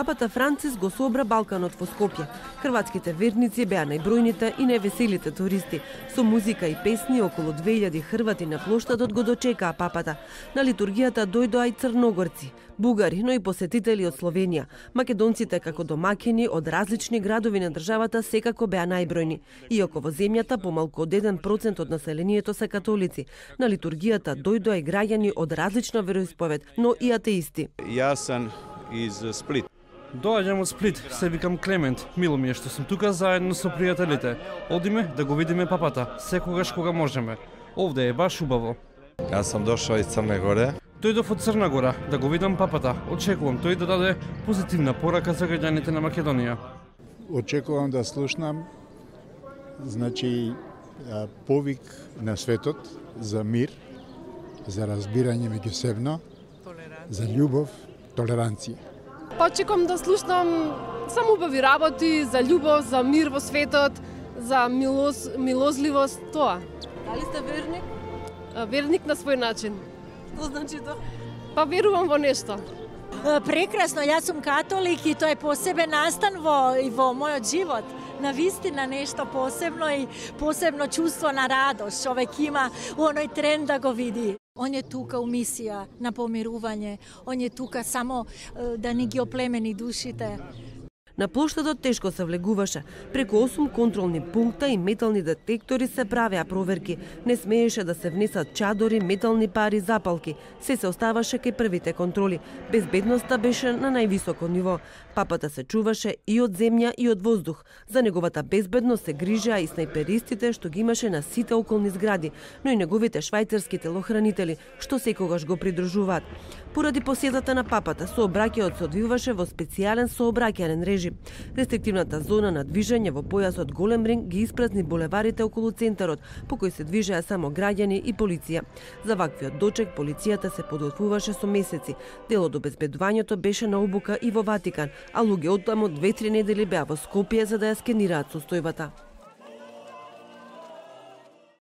Папата Францис го собра Балканот во Скопје. Хрватските верници беа најбројните и највеселите туристи. Со музика и песни околу 2000 хрвати на плоштадот го дочекаа папата. На литургијата дојдоа и црногорци, бугари, но и посетители од Словенија. Македонците како домаќини од различни градови на државата секако беа најбројни. Иако во земјата помалку од 1% од населението се католици. На литургијата дојдоа и граѓани од различна вероисповед, но и атеисти. Јас сум из Сплит. Доаѓам од Сплит, се викам Клемент. Мило ми е што сум тука заедно со пријателите. Одиме да го видиме папата, секогаш кога можеме. Овде е баш убаво. Јас сум дошол из Црна Гора. Дојдов од Црна Гора да го видам папата. Очекувам тој да даде позитивна порака за граѓаните на Македонија. Очекувам да слушнам повик на светот за мир, за разбирање меѓусебно, за љубов, толеранција. Очекувам да слушнам само убави работи, за љубов, за мир во светот, за милозливост, тоа. Дали сте верник? Верник на свој начин. Што значи тоа? Па верувам во нешто. Прекрасно, јас сум католик и тоа е посебен настан во мојот живот. Навистина нешто посебно и посебно чувство на радост. Човек има оној тренд да го види. Он е тука у мисија на помирување. Он е тука само да ни ги оплемени душите. На плоштадот тешко се влегуваше. Преку 8 контролни пункта и метални детектори се правеа проверки. Не смееше да се внесат чадори, метални пари, запалки. Се оставаше кај првите контроли. Безбедноста беше на највисоко ниво. Папата се чуваше и од земја и од воздух. За неговата безбедност се грижеа и снајперистите што ги имаше на сите околни згради, но и неговите швајцарски телохранители, што секогаш го придружуваат. Поради посетата на папата, сообраќајот се одвиваше во специјален сообраќајен режим. Рестриктивната зона на движење во појасот голем ринг ги испразни булеварите околу центарот, по кој се движеа само граѓани и полиција. За ваквиот дочек полицијата се подготвуваше со месеци. Дел од обезбедувањето беше на обука и во Ватикан, а луѓе од таму 2-3 недели беа во Скопје за да ја скенираат состојбата.